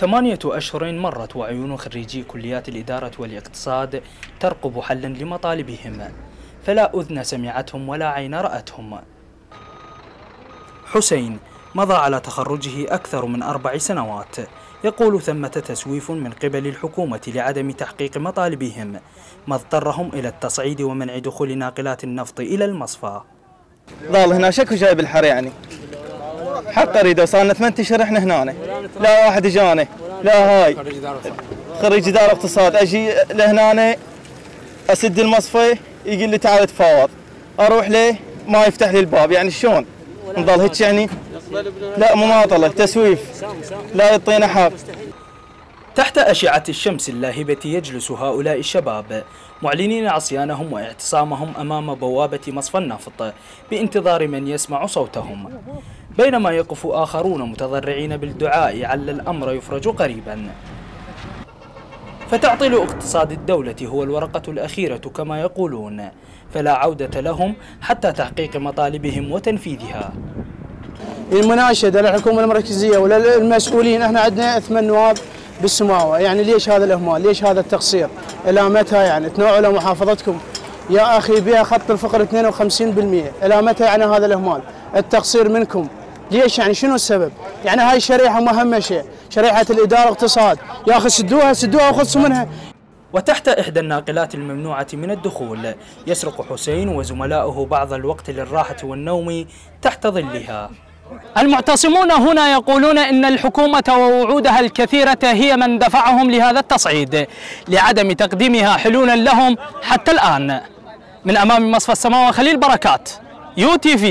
8 أشهر مرت وعيون خريجي كليات الإدارة والاقتصاد ترقب حلا لمطالبهم، فلا أذن سمعتهم ولا عين رأتهم. حسين مضى على تخرجه أكثر من 4 سنوات، يقول ثمة تسويف من قبل الحكومة لعدم تحقيق مطالبهم، ما اضطرهم إلى التصعيد ومنع دخول ناقلات النفط إلى المصفى. ظل هنا شكو جايب الحر يعني حق اريده، وصارنا 8 اشهر احنا هنا، لا واحد اجاني، لا هاي خريج اداره اقتصاد، اجي لهنا اسد المصفى يقول لي تعال تفاوض، اروح له ما يفتح لي الباب، يعني شلون؟ نضل هيك يعني؟ لا مماطله تسويف، لا يعطينا حق. تحت أشعة الشمس اللاهبة يجلس هؤلاء الشباب معلنين عصيانهم واعتصامهم أمام بوابة مصفى النفط بانتظار من يسمع صوتهم، بينما يقف آخرون متضرعين بالدعاء على الأمر يفرج قريبا. فتعطيل اقتصاد الدولة هو الورقة الأخيرة كما يقولون، فلا عودة لهم حتى تحقيق مطالبهم وتنفيذها. المناشدة للحكومة المركزية وللمسؤولين، احنا عندنا 8 نواب بالسماوة، يعني ليش هذا الإهمال؟ ليش هذا التقصير؟ إلى متى يعني تنوعوا محافظتكم يا أخي بها خط الفقر 52%، إلى متى يعني هذا الإهمال؟ التقصير منكم، ليش يعني شنو السبب؟ يعني هاي الشريحة مهمشة، شريحة الإدارة والاقتصاد، يا أخي سدوها وخلصوا منها. وتحت إحدى الناقلات الممنوعة من الدخول يسرق حسين وزملاؤه بعض الوقت للراحة والنوم تحت ظلها. المعتصمون هنا يقولون إن الحكومة ووعودها الكثيرة هي من دفعهم لهذا التصعيد لعدم تقديمها حلولا لهم حتى الآن. من أمام مصفى السماوة خليل بركات، UTV.